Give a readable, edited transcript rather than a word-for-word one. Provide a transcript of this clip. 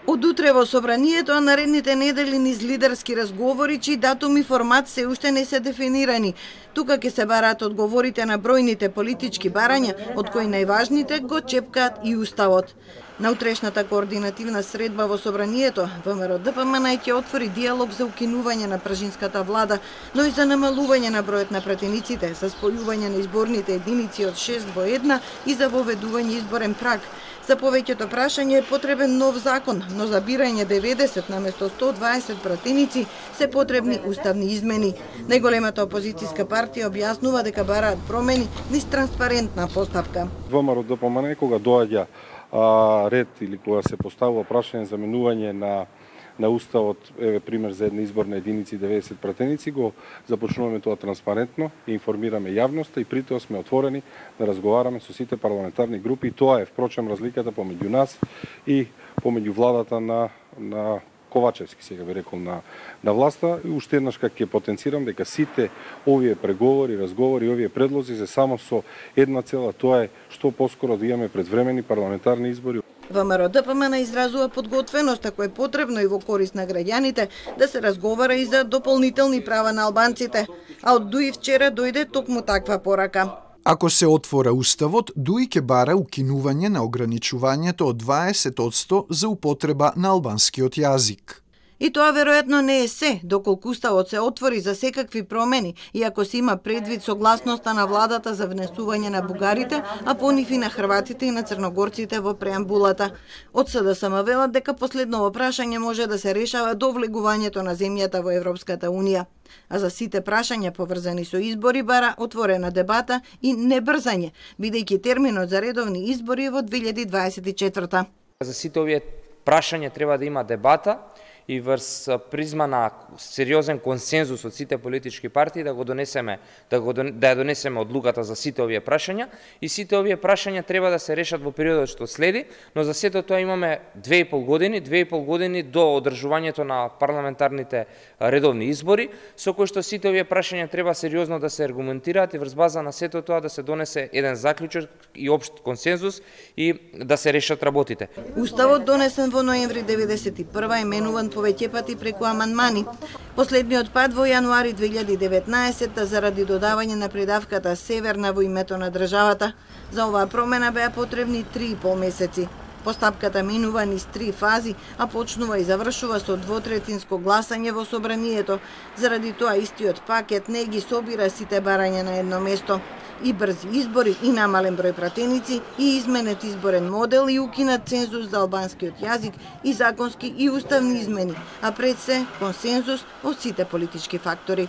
Од утре во собранието, а наредните недели низ лидерски разговори, чии датум и формат се уште не се дефинирани. Тука ќе се бараат одговорите на бројните политички барања, од кои најважните го чепкаат и уставот. На утрешната координативна средба во собранието, ВМРО-ДПМН ќе отвори диалог за укинување на пржинската влада, но и за намалување на бројот на пратениците, за спојување на изборните единици од 6 во 1 и за воведување изборен праг. За повеќето прашање е потребен нов закон, но за бирање 90 наместо 120 пратеници се потребни уставни измени. Најголемата опозицијска партија објаснува дека бараат промени низ транспарентна постапка. ВМРО-ДПМН кога доаѓа ред или кога се поставува прашање за менување на уставот, еве пример за една изборна единици 90 пратеници, го започнуваме тоа транспарентно и информираме јавноста и при тоа сме отворени да разговараме со сите парламентарни групи. И тоа е впрочем разликата помеѓу нас и помеѓу владата на Ковачевски, сега би рекол, на власта. И уште еднаш ќе потенцирам дека сите овие преговори, разговори, овие предлози се само со една цела, тоа е што поскоро да имаме предвремени парламентарни избори. ВМРО-ДПМН изразува подготвеност, ако е потребно и во корист на граѓаните, да се разговара и за дополнителни права на албанците. А од ДУИ вчера дојде токму таква порака. Ако се отвора уставот, ДУИ ќе бара укинување на ограничувањето од 20% за употреба на албанскиот јазик. И тоа веројатно не е се, доколку уставот се отвори за секакви промени и ако се има предвид согласноста на владата за внесување на бугарите, а по нив и на хрватите и на црногорците во преамбулата. Од СДСМ велат дека последново прашање може да се решава до влегувањето на земјата во Европската Унија. А за сите прашања поврзани со избори бара отворена дебата и небрзање, бидејќи терминот за редовни избори е во 2024. За сите овие прашања треба да има дебата и врз призма на сериозен консензус од сите политички партии да ја донесеме одлуката за сите овие прашања и сите овие прашања треба да се решат во периодот што следи, но за сето тоа имаме 2,5 години до одржувањето на парламентарните редовни избори, со кои што сите овие прашања треба сериозно да се аргументираат и врз база на сето тоа да се донесе еден заклучок и општ консензус и да се решат работите. Уставот донесен во ноември 1991 е менуван повеќе пати преку амандмани. Последниот пат во јануари 2019 заради додавање на придавката Северна во името на државата. За оваа промена беа потребни 3,5 месеци. Постапката минува низ 3 фази, а почнува и завршува со двотретинско гласање во собранието. Заради тоа истиот пакет не ги собира сите барања на едно место. И брзи избори, и намален број пратеници, и изменет изборен модел, и укинат цензус за албанскиот јазик, и законски и уставни измени, а пред се консензус од сите политички фактори.